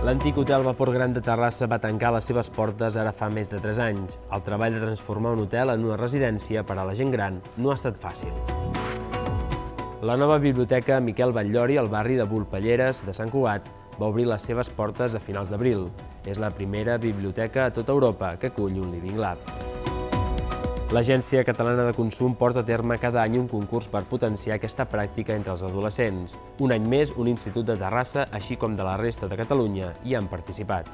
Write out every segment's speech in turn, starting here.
L'antic hotel Vapor Gran de Terrassa va tancar les seves portes ara fa més de 3 anys. El treball de transformar un hotel en una residència per a la gent gran no ha estat fàcil. La nova biblioteca Miquel Batllori, al barri de Volpelleres de Sant Cugat, va obrir les seves portes a finals d'abril. És la primera biblioteca a tota Europa que acull un Living Lab. L'Agència Catalana de Consum porta a terme cada any un concurs per potenciar aquesta pràctica entre els adolescents. Un any més, un institut de Terrassa, així com de la resta de Catalunya, hi han participat.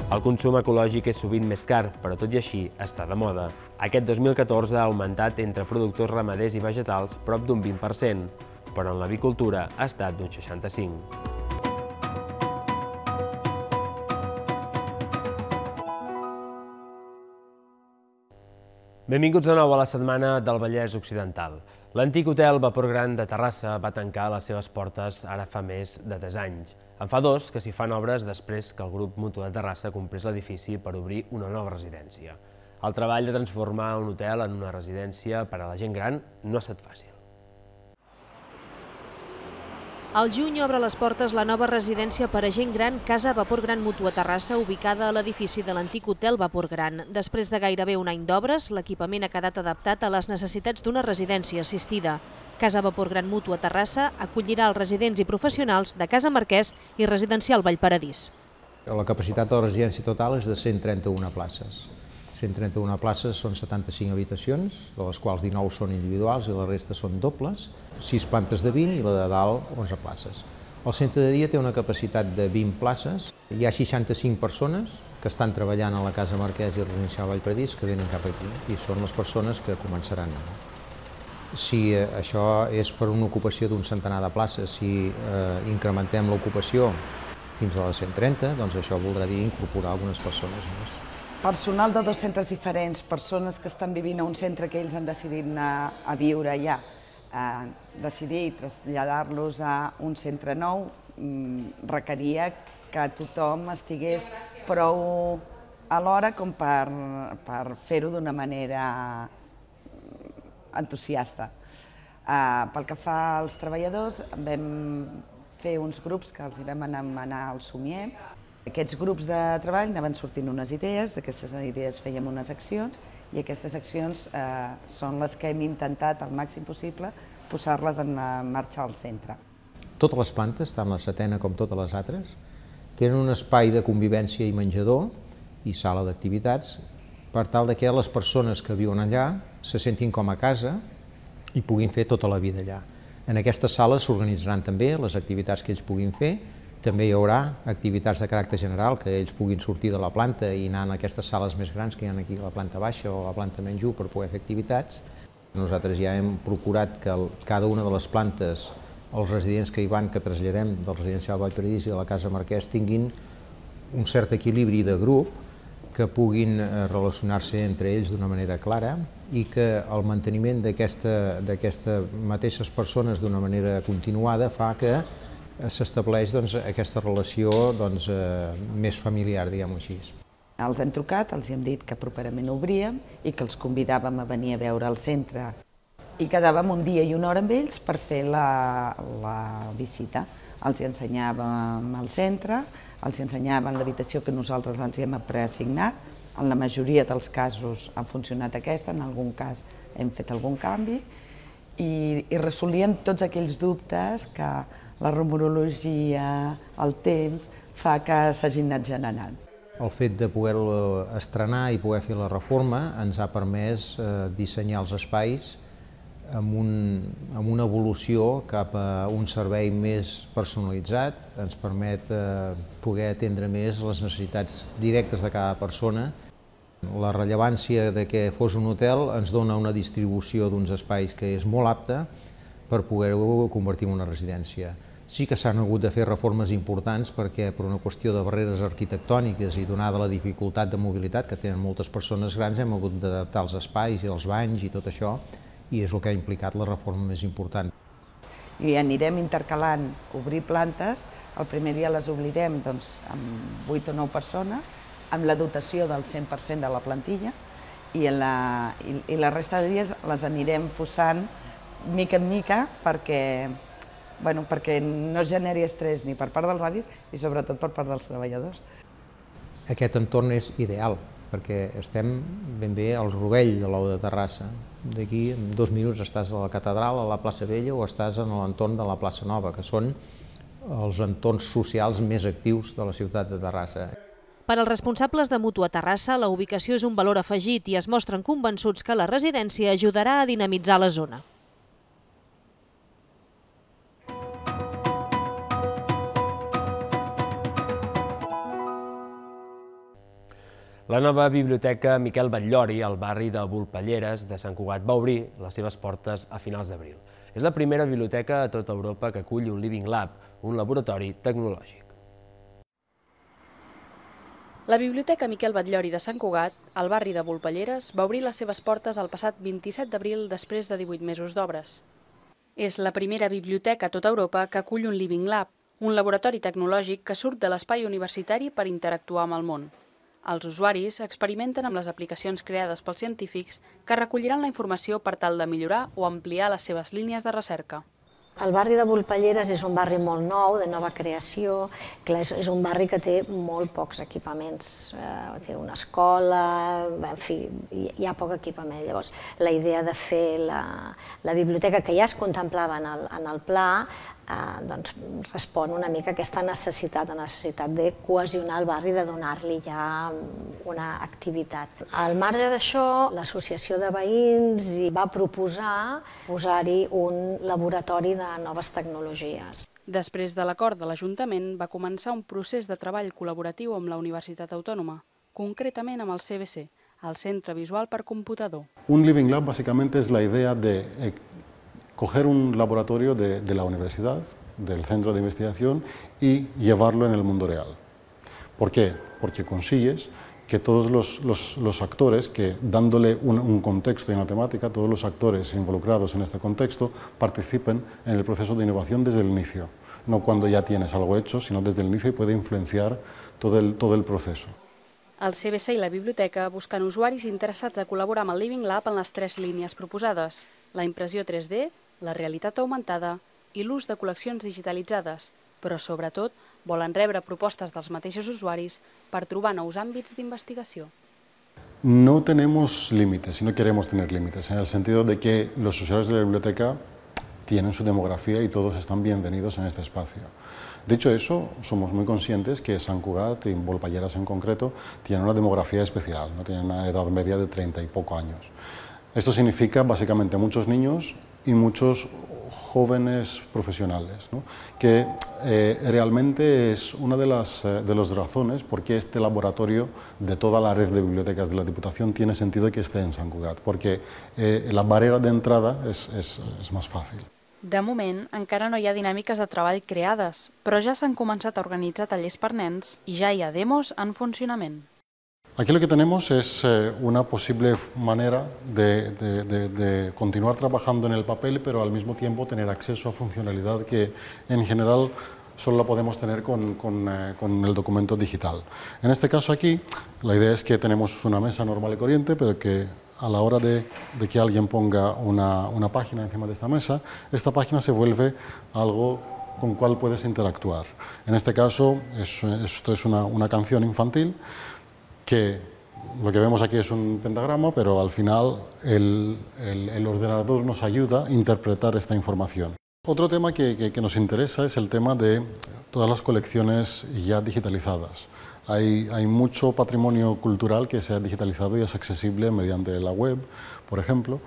El consum ecològic és sovint més car, però tot i així està de moda. Aquest 2014 ha augmentat entre productors ramaders i vegetals prop d'un 20%, però en l'avicultura ha estat d'un 65%. Benvinguts de nou a la setmana del Vallès Occidental. L'antic hotel Vapor Gran de Terrassa va tancar les seves portes ara fa més de 3 anys. En fa 2 que s'hi fan obres després que el grup Mutu de Terrassa comprés l'edifici per obrir una nova residència. El treball de transformar un hotel en una residència per a la gent gran no ha estat fàcil. Al juny obre les portes la nova residència per a gent gran Casa Vapor Gran Mutu a Terrassa, ubicada a l'edifici de l'antic hotel Vapor Gran. Després de gairebé un any d'obres, l'equipament ha quedat adaptat a les necessitats d'una residència assistida. Casa Vapor Gran Mutu a Terrassa acollirà els residents i professionals de Casa Marquès i Residencial Vallparadís. La capacitat de la residència total és de 131 places. 131 places són 75 habitacions, de les quals 19 són individuals i la resta són dobles, 6 plantes de 20 i la de dalt 11 places. El centre de dia té una capacitat de 20 places, hi ha 65 persones que estan treballant a la Casa Marquès i Residencial Vallparadís que venen cap aquí i són les persones que començaran. Si això és per una ocupació d'un centenar de places, si incrementem l'ocupació fins a les 130, doncs això voldrà dir incorporar algunes persones més. Personal de 2 centres diferents, persones que estan vivint a un centre que ells han decidit anar a viure allà, decidir traslladar-los a un centre nou requeria que tothom estigués prou a l'hora com per fer-ho d'una manera entusiasta. Pel que fa als treballadors, vam fer uns grups que els vam anomenar el Somier. Aquests grups de treball anaven sortint unes idees, d'aquestes idees fèiem unes accions i aquestes accions són les que hem intentat al màxim possible posar-les en marxa al centre. Totes les plantes, tant la setena com totes les altres, tenen un espai de convivència i menjador i sala d'activitats per tal que les persones que viuen allà se sentin com a casa i puguin fer tota la vida allà. En aquestes sales s'organitzaran també les activitats que ells puguin fer. També hi haurà activitats de caràcter general, que ells puguin sortir de la planta i anar a aquestes sales més grans que hi ha aquí a la planta baixa o a la planta menys 1 per poder fer activitats. Nosaltres ja hem procurat que cada una de les plantes, els residents que hi van, que traslladem del Residencial Vallparadís i de la Casa Marquès, tinguin un cert equilibri de grup, que puguin relacionar-se entre ells d'una manera clara i que el manteniment d'aquestes mateixes persones d'una manera continuada fa que s'estableix aquesta relació més familiar, diguem-ho així. Els hem trucat, els hem dit que properament obríem i que els convidàvem a venir a veure el centre. I quedàvem un dia i una hora amb ells per fer la visita. Els ensenyàvem el centre, els ensenyàvem l'habitació que nosaltres els hem preassignat. En la majoria dels casos ha funcionat aquesta, en algun cas hem fet algun canvi i resolíem tots aquells dubtes que la rumorologia, el temps, fa que s'hagin anat generant. El fet de poder-lo estrenar i poder fer la reforma ens ha permès dissenyar els espais amb una evolució cap a un servei més personalitzat, ens permet poder atendre més les necessitats directes de cada persona. La rellevància de que fos un hotel ens dona una distribució d'uns espais que és molt apta per poder-ho convertir en una residència. Sí que s'han hagut de fer reformes importants perquè per una qüestió de barreres arquitectòniques i donada la dificultat de mobilitat que tenen moltes persones grans hem hagut d'adaptar els espais i els banys i tot això i és el que ha implicat la reforma més important. I anirem intercalant obrir plantes, el primer dia les obrirem amb 8 o 9 persones, amb la dotació del 100% de la plantilla i la resta de dies les anirem posant mica en mica perquè perquè no es generi estrès ni per part dels avis i sobretot per part dels treballadors. Aquest entorn és ideal, perquè estem ben bé al rovell de l'Ou de Terrassa. D'aquí, en 2 minuts, estàs a la catedral, a la plaça Vella, o estàs en l'entorn de la plaça Nova, que són els entorns socials més actius de la ciutat de Terrassa. Per als responsables de Mútua Terrassa, la ubicació és un valor afegit i es mostren convençuts que la residència ajudarà a dinamitzar la zona. La nova biblioteca Miquel Batllori, al barri de Volpelleres de Sant Cugat, va obrir les seves portes a finals d'abril. És la primera biblioteca a tota Europa que acull un Living Lab, un laboratori tecnològic. La Biblioteca Miquel Batllori de Sant Cugat, al barri de Volpelleres, va obrir les seves portes el passat 27 d'abril després de 18 mesos d'obres. És la primera biblioteca a tota Europa que acull un Living Lab, un laboratori tecnològic que surt de l'espai universitari per interactuar amb el món. Els usuaris experimenten amb les aplicacions creades pels científics que recolliran la informació per tal de millorar o ampliar les seves línies de recerca. El barri de Volpelleres és un barri molt nou, de nova creació. És un barri que té molt pocs equipaments. Té una escola, en fi, hi ha poc equipament. Llavors, la idea de fer la biblioteca que ja es contemplava en el pla respon una mica a aquesta necessitat de cohesionar el barri, de donar-li ja una activitat. Al marge d'això, l'associació de veïns va proposar posar-hi un laboratori de noves tecnologies. Després de l'acord de l'Ajuntament, va començar un procés de treball col·laboratiu amb la Universitat Autònoma, concretament amb el CBC, el Centre Visual per Computador. Un Living Lab básicamente es la idea de coger un laboratorio de la universidad, del centro de investigación, y llevarlo en el mundo real. ¿Por qué? Porque consigues que todos los actores, que dándole un contexto y una temática, todos los actores involucrados en este contexto participen en el proceso de innovación desde el inicio. No cuando ya tienes algo hecho, sino desde el inicio, y puede influenciar todo el proceso. El CBC i la biblioteca busquen usuaris interessats a col·laborar amb el Living Lab en les 3 línies proposades: la impressió 3D, la realitat augmentada i l'ús de col·leccions digitalitzades, però sobretot volen rebre propostes dels mateixos usuaris per trobar nous àmbits d'investigació. No tenemos límites y no queremos tener límites, en el sentido de que los usuarios de la biblioteca tienen su demografía y todos están bienvenidos en este espacio. Dicho eso, somos muy conscientes que Sant Cugat, y Volpelleres en concreto, tienen una demografía especial, ¿no? Tienen una edad media de 30 y poco años. Esto significa básicamente muchos niños y muchos jóvenes profesionales, ¿no? Que realmente es una de las razones por qué este laboratorio de toda la red de bibliotecas de la Diputación tiene sentido que esté en Sant Cugat, porque la barrera de entrada es más fàcil. De moment, encara no hi ha dinàmiques de treball creades, però ja s'han començat a organitzar tallers per nens i ja hi ha demos en funcionament. Aquí lo que tenemos es una posible manera de continuar trabajando en el papel, pero al mismo tiempo tener acceso a funcionalidad que en general solo la podemos tener con el documento digital. En este caso aquí, la idea es que tenemos una mesa normal y corriente, pero que a la hora de que alguien ponga una página encima de esta mesa, esta página se vuelve algo con cual puedes interactuar. En este caso, esto es una canción infantil, que lo que vemos aquí es un pentagrama, pero al final el ordenador nos ayuda a interpretar esta información. Otro tema que nos interesa es el tema de todas las colecciones ya digitalizadas. Hay mucho patrimonio cultural que se ha digitalizado y es accesible mediante la web, por ejemplo,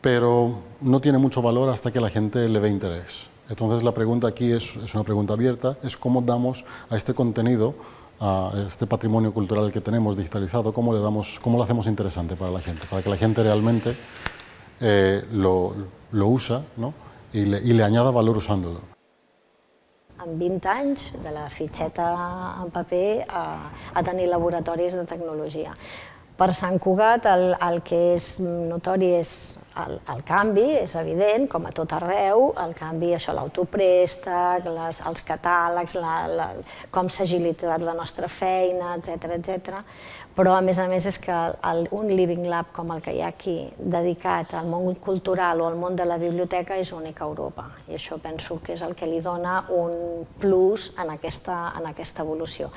pero no tiene mucho valor hasta que la gente le ve interés. Entonces la pregunta aquí es una pregunta abierta, es cómo damos a este contenido, a este patrimonio cultural que tenemos digitalizado, cómo lo hacemos interesante para la gente, para que la gente realmente lo usa, ¿no? y le añada valor usándolo. En 20 anys, de la fitxeta en paper a tenir laboratoris de tecnologia. Per Sant Cugat el que és notori és el canvi, és evident, com a tot arreu, el canvi, això, l'autoprèstec, els catàlegs, com s'ha agilitzat la nostra feina, etc. Però, a més és que un Living Lab com el que hi ha aquí, dedicat al món cultural o al món de la biblioteca, és únic a Europa. I això penso que és el que li dona un plus en aquesta evolució.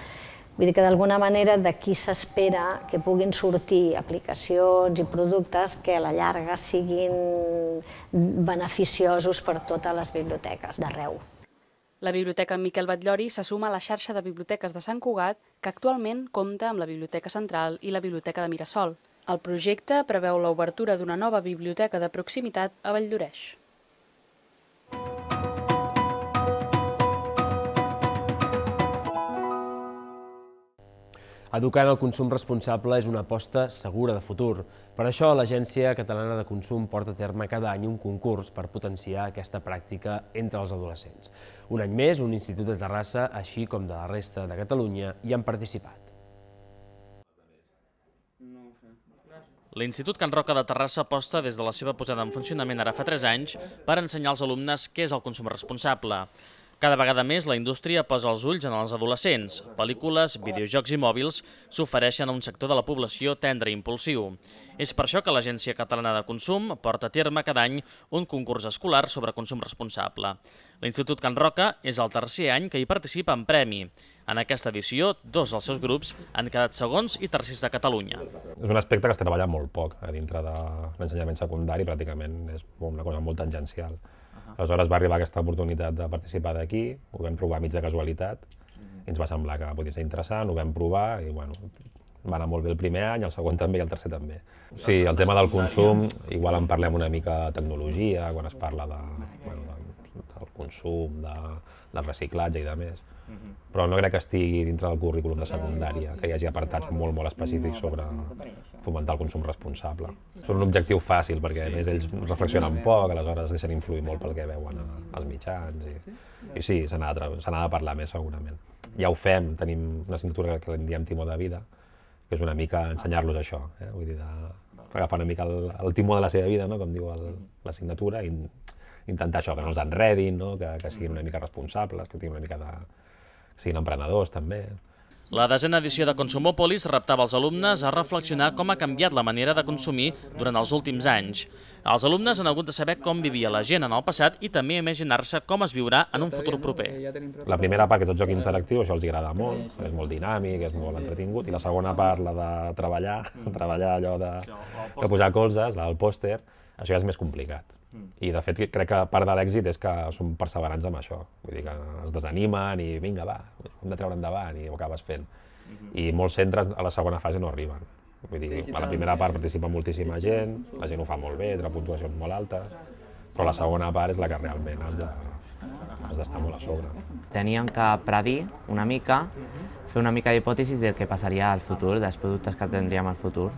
Vull dir que d'alguna manera d'aquí s'espera que puguin sortir aplicacions i productes que a la llarga siguin beneficiosos per totes les biblioteques d'arreu. La Biblioteca Miquel Batllori se suma a la xarxa de biblioteques de Sant Cugat, que actualment compta amb la Biblioteca Central i la Biblioteca de Mirasol. El projecte preveu l'obertura d'una nova biblioteca de proximitat a Valldoreix. Educar en el consum responsable és una aposta segura de futur. Per això, l'Agència Catalana de Consum porta a terme cada any un concurs per potenciar aquesta pràctica entre els adolescents. Un any més, un institut de Terrassa, així com de la resta de Catalunya, hi han participat. L'Institut Can Roca de Terrassa aposta des de la seva posada en funcionament ara fa 3 anys per ensenyar als alumnes què és el consum responsable. Cada vegada més la indústria posa els ulls en els adolescents. Pel·lícules, videojocs i mòbils s'ofereixen a un sector de la població tendre i impulsiu. És per això que l'Agència Catalana de Consum porta a terme cada any un concurs escolar sobre consum responsable. L'Institut Can Roca és el tercer any que hi participa en premi. En aquesta edició, 2 dels seus grups han quedat segons i tercers de Catalunya. És un aspecte que es treballa molt poc a dintre de l'ensenyament secundari, pràcticament és una cosa molt tangencial. Aleshores va arribar aquesta oportunitat de participar d'aquí, ho vam provar mig de casualitat, i ens va semblar que podia ser interessant, ho vam provar i va anar molt bé el primer any, el segon també i el tercer també. Sí, el tema del consum, igual en parlem una mica de tecnologia, quan es parla del consum, del reciclatge i de més, però no crec que estigui dintre del currículum de secundària, que hi hagi apartats molt específics sobre fomentar el consum responsable. Són un objectiu fàcil, perquè a més ells reflexionen poc, aleshores deixen influir molt pel que veuen als mitjans, i sí, se n'ha de parlar més segurament. Ja ho fem, tenim una assignatura que en diem timó de vida, que és una mica ensenyar-los això, vull dir, agafar una mica el timó de la seva vida, com diu l'assignatura, i intentar això, que no els enredin, que siguin una mica responsables, que siguin emprenedors també. La 10a edició de Consumòpolis reptava els alumnes a reflexionar com ha canviat la manera de consumir durant els últims anys. Els alumnes han hagut de saber com vivia la gent en el passat i també imaginar-se com es viurà en un futur proper. La primera part, que és el joc interactiu, això els agrada molt, és molt dinàmic, és molt entretingut, i la segona part, la de treballar allò de posar colzes, la del pòster, això ja és més complicat. I de fet crec que part de l'èxit és que són perseverants amb això, vull dir que es desanimen i vinga va, hem de treure endavant i ho acabes fent. I molts centres a la segona fase no arriben. Vull dir, a la primera part participa moltíssima gent, la gent ho fa molt bé, té puntuacions molt altes, però la segona part és la que realment has d'estar molt a sobre. Teníem que predir una mica, fer una mica d'hipòtesis del que passaria al futur, dels productes que tindríem al futur.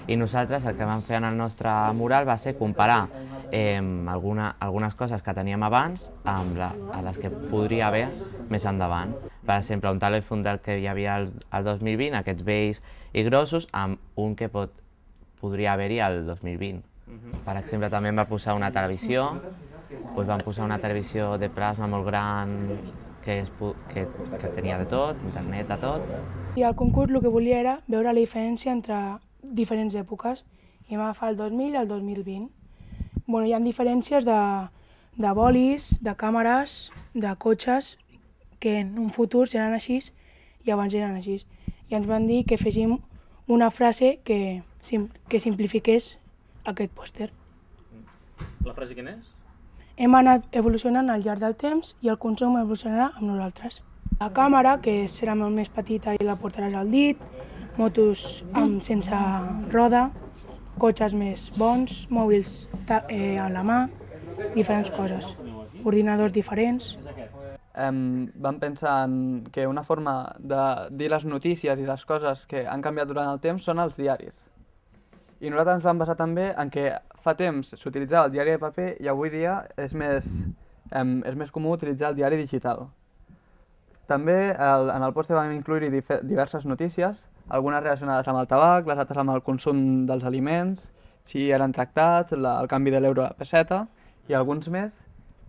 I nosaltres el que vam fer en el nostre mural va ser comparar algunes coses que teníem abans amb les que podria haver més endavant. Per exemple, un telèfon del que hi havia el 2020, aquests vells i grossos, amb un que podria haver-hi el 2020. Per exemple, també em va posar una televisió, vam posar una televisió de plasma molt gran que tenia de tot, internet, de tot. I el concurs el que volia era veure la diferència entre diferents èpoques, i vam agafar el 2000 i el 2020. Hi ha diferències de bolis, de càmeres, de cotxes, que en un futur seran així i abans eren així. I ens van dir que féssim una frase que simplifiqués aquest pòster. La frase quina és? Hem anat evolucionant al llarg del temps i el consum evolucionarà amb nosaltres. La càmera, que serà molt més petita i la portaràs al dit, motos sense roda, cotxes més bons, mòbils a la mà, diferents coses, ordinadors diferents. Vam pensar que una forma de dir les notícies i les coses que han canviat durant el temps són els diaris. I nosaltres ens vam basar també en que fa temps s'utilitzava el diari de paper i avui dia és més comú utilitzar el diari digital. També en el pòster vam incloure diverses notícies algunes relacionades amb el tabac, les altres amb el consum dels aliments, si eren tractats, el canvi de l'euro a la peseta i alguns més.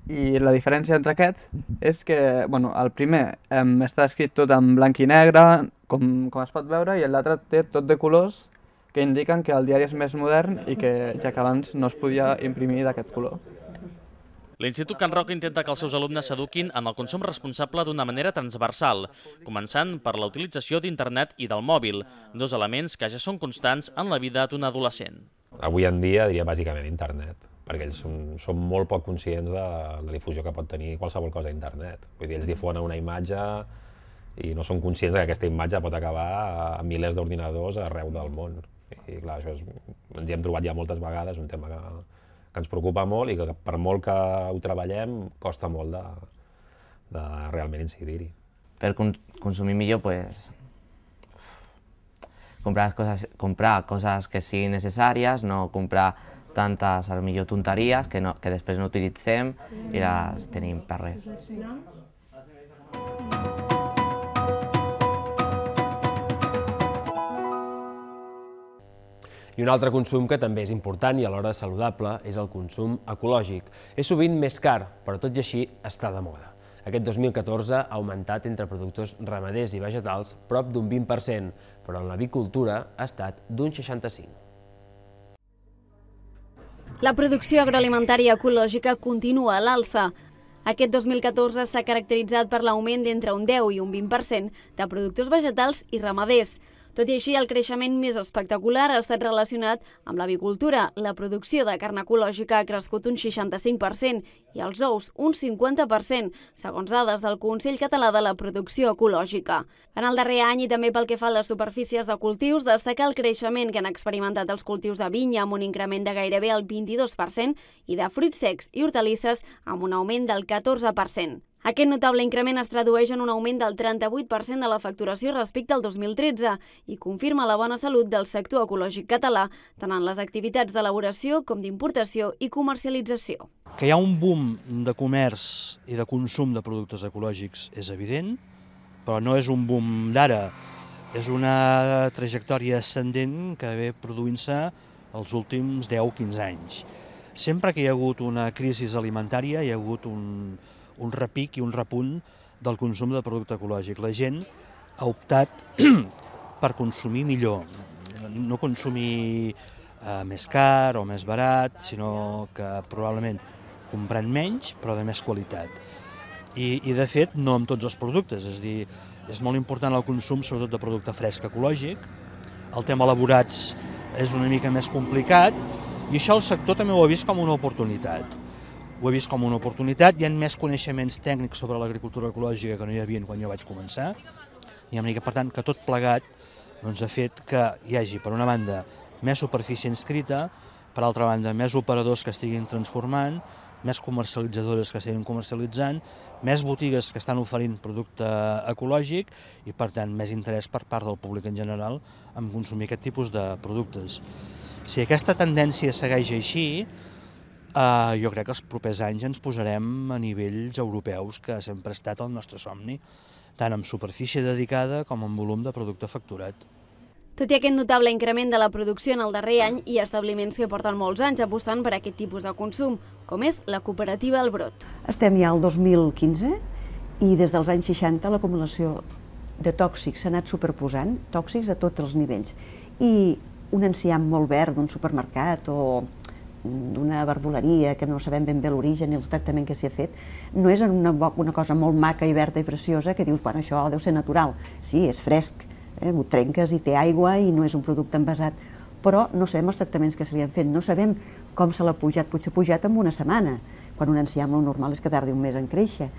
I la diferència entre aquests és que el primer està escrit tot en blanc i negre, com es pot veure, i l'altre té tot de colors que indiquen que el diari és més modern i que ja que abans no es podia imprimir d'aquest color. L'Institut Can Roca intenta que els seus alumnes s'eduquin en el consum responsable d'una manera transversal, començant per la utilització d'internet i del mòbil, dos elements que ja són constants en la vida d'un adolescent. Avui en dia diria bàsicament internet, perquè ells són molt poc conscients de la difusió que pot tenir qualsevol cosa a internet. Vull dir, ells difonen una imatge i no són conscients que aquesta imatge pot acabar a milers d'ordinadors arreu del món. I clar, això ens hi hem trobat ja moltes vegades, un tema que ens preocupa molt i que per molt que ho treballem costa molt de realment incidir-hi. Per consumir millor, comprar coses que siguin necessàries, no comprar tantes, potser, tonteries que després no utilitzem i les tenim per res. I un altre consum que també és important i alhora saludable és el consum ecològic. És sovint més car, però tot i així està de moda. Aquest 2014 ha augmentat entre productors ramaders i vegetals prop d'un 20%, però en l'avicultura ha estat d'un 65%. La producció agroalimentària ecològica continua a l'alça. Aquest 2014 s'ha caracteritzat per l'augment d'entre un 10 i un 20% de productors vegetals i ramaders. Tot i així, el creixement més espectacular ha estat relacionat amb l'avicultura. La producció de carn ecològica ha crescut un 65% i els ous un 50%, segons dades del Consell Català de la Producció Ecològica. En el darrer any i també pel que fa a les superfícies de cultius, destaca el creixement que han experimentat els cultius de vinya amb un increment de gairebé el 22% i de fruits secs i hortalisses amb un augment del 14%. Aquest notable increment es tradueix en un augment del 38% de la facturació respecte al 2013 i confirma la bona salut del sector ecològic català, tant en les activitats d'elaboració com d'importació i comercialització. Que hi ha un boom de comerç i de consum de productes ecològics és evident, però no és un boom d'ara, és una trajectòria ascendent que ve produint-se els últims 10-15 anys. Sempre que hi ha hagut una crisi alimentària hi ha hagut un repic i un repunt del consum de producte ecològic. La gent ha optat per consumir millor, no consumir més car o més barat, sinó que probablement comprant menys però de més qualitat. I de fet no amb tots els productes, és a dir, és molt important el consum sobretot de producte fresc ecològic, el tema elaborats és una mica més complicat i això el sector també ho ha vist com una oportunitat. Ho he vist com una oportunitat, hi ha més coneixements tècnics sobre l'agricultura ecològica que no hi havia quan jo vaig començar, i per tant que tot plegat ha fet que hi hagi, per una banda, més superfície inscrita, per altra banda, més operadors que estiguin transformant, més comercialitzadores que estiguin comercialitzant, més botigues que estan oferint producte ecològic i, per tant, més interès per part del públic en general en consumir aquest tipus de productes. Si aquesta tendència segueix així, jo crec que els propers anys ens posarem a nivells europeus, que sempre ha estat el nostre somni, tant amb superfície dedicada com amb volum de producte facturat. Tot i aquest notable increment de la producció en el darrer any, hi ha establiments que porten molts anys apostant per aquest tipus de consum, com és la cooperativa El Brot. Estem ja al 2015 i des dels anys 60 l'acumulació de tòxics s'ha anat superposant, tòxics a tots els nivells. I un enciam molt verd d'un supermercat o d'una verdoleria que no sabem ben bé l'origen i el tractament que s'hi ha fet, no és una cosa molt maca i verda i preciosa que dius, bueno, això deu ser natural. Sí, és fresc, ho trenques i té aigua i no és un producte envasat, però no sabem els tractaments que se li han fet, no sabem com se l'ha pujat, potser pujat en una setmana, quan un enciam el normal és que tardi un mes en créixer.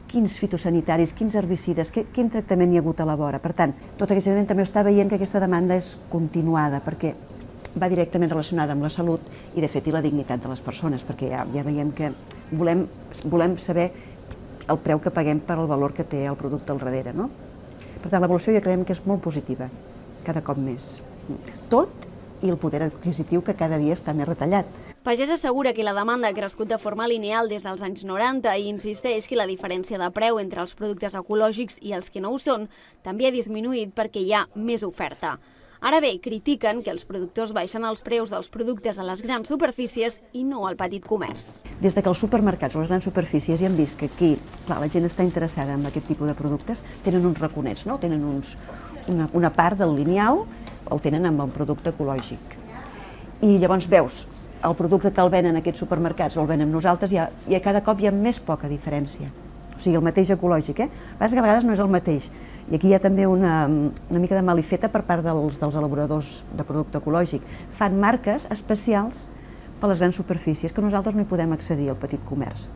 Quins fitosanitaris, quins herbicides, quin tractament hi ha hagut a la vora. Per tant, tot aquest element també està veient que aquesta demanda és continuada, perquè va directament relacionada amb la salut i, de fet, i la dignitat de les persones, perquè ja veiem que volem saber el preu que paguem per el valor que té el producte al darrere, no? Per tant, l'evolució ja creiem que és molt positiva, cada cop més. Tot i el poder adquisitiu que cada dia està més retallat. Pagès assegura que la demanda ha crescut de forma lineal des dels anys 90 i insisteix que la diferència de preu entre els productes ecològics i els que no ho són també ha disminuït perquè hi ha més oferta. Ara bé, critiquen que els productors baixen els preus dels productes a les grans superfícies i no al petit comerç. Des que els supermercats o les grans superfícies ja han vist que aquí la gent està interessada en aquest tipus de productes, tenen uns raconets, tenen una part del lineal, el tenen amb el producte ecològic. I llavors veus el producte que el venen aquests supermercats o el venen nosaltres, i a cada cop hi ha més poca diferència. O sigui, el mateix ecològic, a vegades no és el mateix. I aquí hi ha també una mica de malifeta per part dels elaboradors de producte ecològic. Fan marques especials per a les grans superfícies, que nosaltres no hi podem accedir al petit comerç.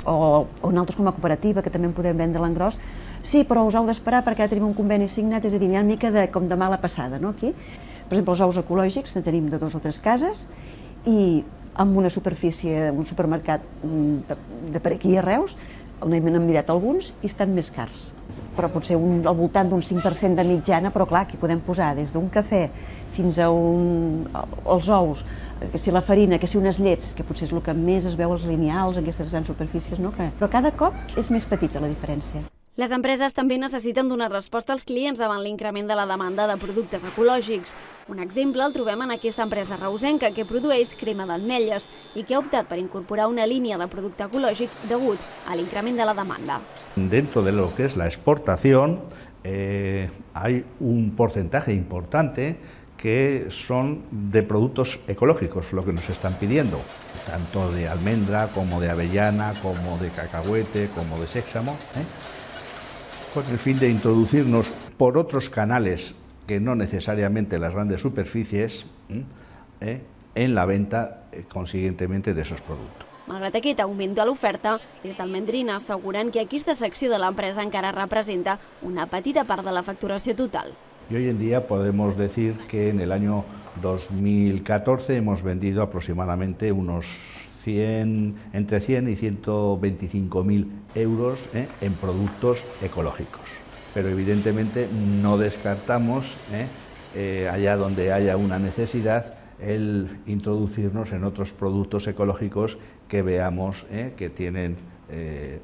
O nosaltres com a cooperativa, que també en podem vendre l'engròs, sí, però us heu d'esperar perquè ara tenim un conveni signat, és a dir, hi ha una mica com de mala passada, aquí. Per exemple, els ous ecològics en tenim de 2 o 3 cases i amb una superfície, un supermercat de per aquí a Reus, n'hem mirat alguns i estan més cars. Però potser al voltant d'un 5% de mitjana, però clar, aquí podem posar des d'un cafè fins als ous, que si la farina, que si unes llets, que potser és el que més es veu als lineals, en aquestes grans superfícies, però cada cop és més petita la diferència. Les empreses també necessiten donar resposta als clients davant l'increment de la demanda de productes ecològics. Un exemple el trobem en aquesta empresa reusenca que produeix crema d'ametlles i que ha optat per incorporar una línia de producte ecològic degut a l'increment de la demanda. Dentro de lo que es la exportación hay un porcentaje importante que son de productos ecológicos, lo que nos están pidiendo, tanto de almendra como de avellana, como de cacahuete, como de séxamo, con el fin de introducirnos por otros canales que no necesariamente las grandes superficies en la venta consiguientemente de esos productos. Malgrat aquest augment de l'oferta, des d'Almendrina asseguren que aquesta secció de l'empresa encara representa una petita part de la facturació total. Y hoy en día podemos decir que en el año 2014 hemos vendido aproximadamente entre 100 y 125.000 euros en productos ecológicos. Pero evidentemente no descartamos, allá donde haya una necesidad, el introducirnos en otros productos ecológicos que veamos que tienen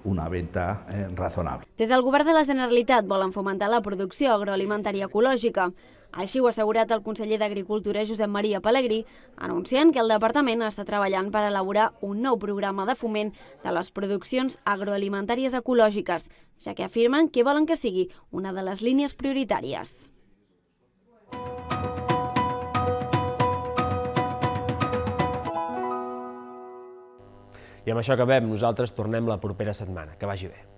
una venta razonable. Des del Govern de la Generalitat volen fomentar la producció agroalimentària ecològica. Així ho ha assegurat el conseller d'Agricultura Josep Maria Pelegrí, anunciant que el departament està treballant per elaborar un nou programa de foment de les produccions agroalimentàries ecològiques, ja que afirmen que volen que sigui una de les línies prioritàries. I amb això acabem. Nosaltres tornem la propera setmana. Que vagi bé.